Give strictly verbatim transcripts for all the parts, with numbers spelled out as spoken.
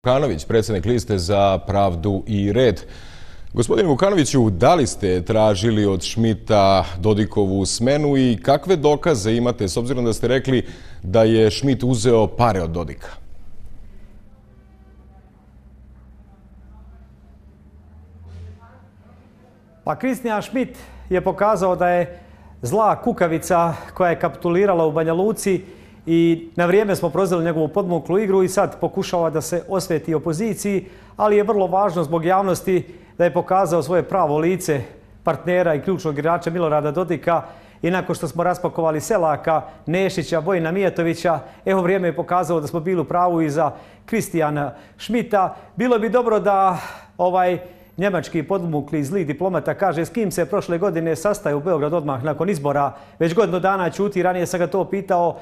Vukanović, predsjednik liste za pravdu i red. Gospodine Vukanoviću, da li ste tražili od Šmita Dodikovu smenu i kakve dokaze imate, s obzirom da ste rekli da je Šmit uzeo pare od Dodika? Pa Kristijan Šmit je pokazao da je zla kukavica koja je kapitulirala u Banja Luci i na vrijeme smo prozvali njegovu podmuklu igru i sad pokušava da se osveti opoziciji, ali je vrlo važno zbog javnosti da je pokazao svoje pravo lice partnera i ključnog igrača Milorada Dodika i nakon što smo raspakovali Selaka, Nešića, Vojina Mijatovića, evo vrijeme je pokazalo da smo bili u pravu i za Kristijana Šmita. Bilo bi dobro da ovaj njemački podmukli zli diplomata kaže s kim se prošle godine sastaje u Beograd odmah nakon izbora. Već godinu dana ćuti, ranije sam ga to pitao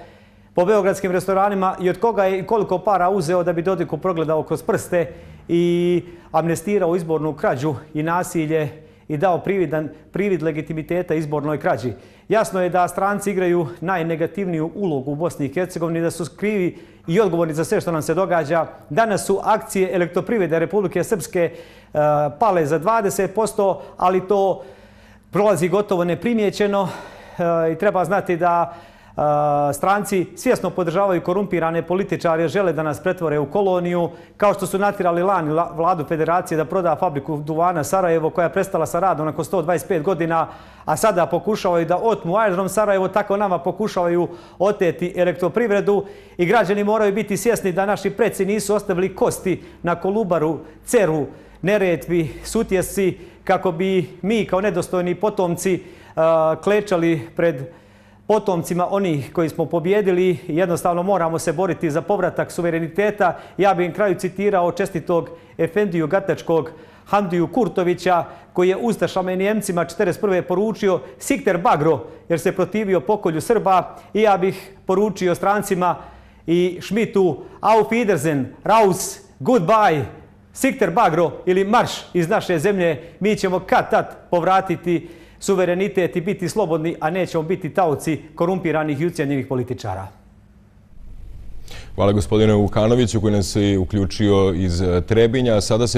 po beogradskim restoranima i od koga je i koliko para uzeo da bi Dodiku progledao kroz prste i amnestirao izbornu krađu i nasilje i dao prividan, privid legitimiteta izbornoj krađi. Jasno je da stranci igraju najnegativniju ulogu u Bosni i Hercegovini, da su krivi i odgovorni za sve što nam se događa. Danas su akcije Elektroprivrede Republike Srpske uh, pale za dvadeset posto, ali to prolazi gotovo neprimjećeno uh, i treba znati da Uh, stranci svjesno podržavaju korumpirane političare, žele da nas pretvore u koloniju, kao što su natjerali lani vladu federacije da proda fabriku duvana Sarajevo koja je prestala sa radom nakon sto dvadeset pet godina, a sada pokušavaju da otmu aerodrom Sarajevo, tako nama pokušavaju oteti elektroprivredu i građani moraju biti svjesni da naši preci nisu ostavili kosti na Kolubaru, Ceru, Neretvi, Sutjesci, kako bi mi kao nedostojni potomci uh, klečali pred potomcima onih koji smo pobjedili. Jednostavno moramo se boriti za povratak suvereniteta. Ja bih na kraju citirao čestitog Efendiju Gatačkog Hamdiju Kurtovića koji je ustašama i Njemcima četrdeset prve poručio Sikter Bagro jer se protivio pokolju Srba i ja bih poručio strancima i Šmitu Auf Wiedersehen, Raus, Goodbye, Sikter Bagro ili marš iz naše zemlje. Mi ćemo kad tad povratiti suverenitet i biti slobodni, a nećemo biti taoci korumpiranih i ucijenjenih političara. Hvala gospodine Vukanoviću koji nas je uključio iz Trebinja. Sada se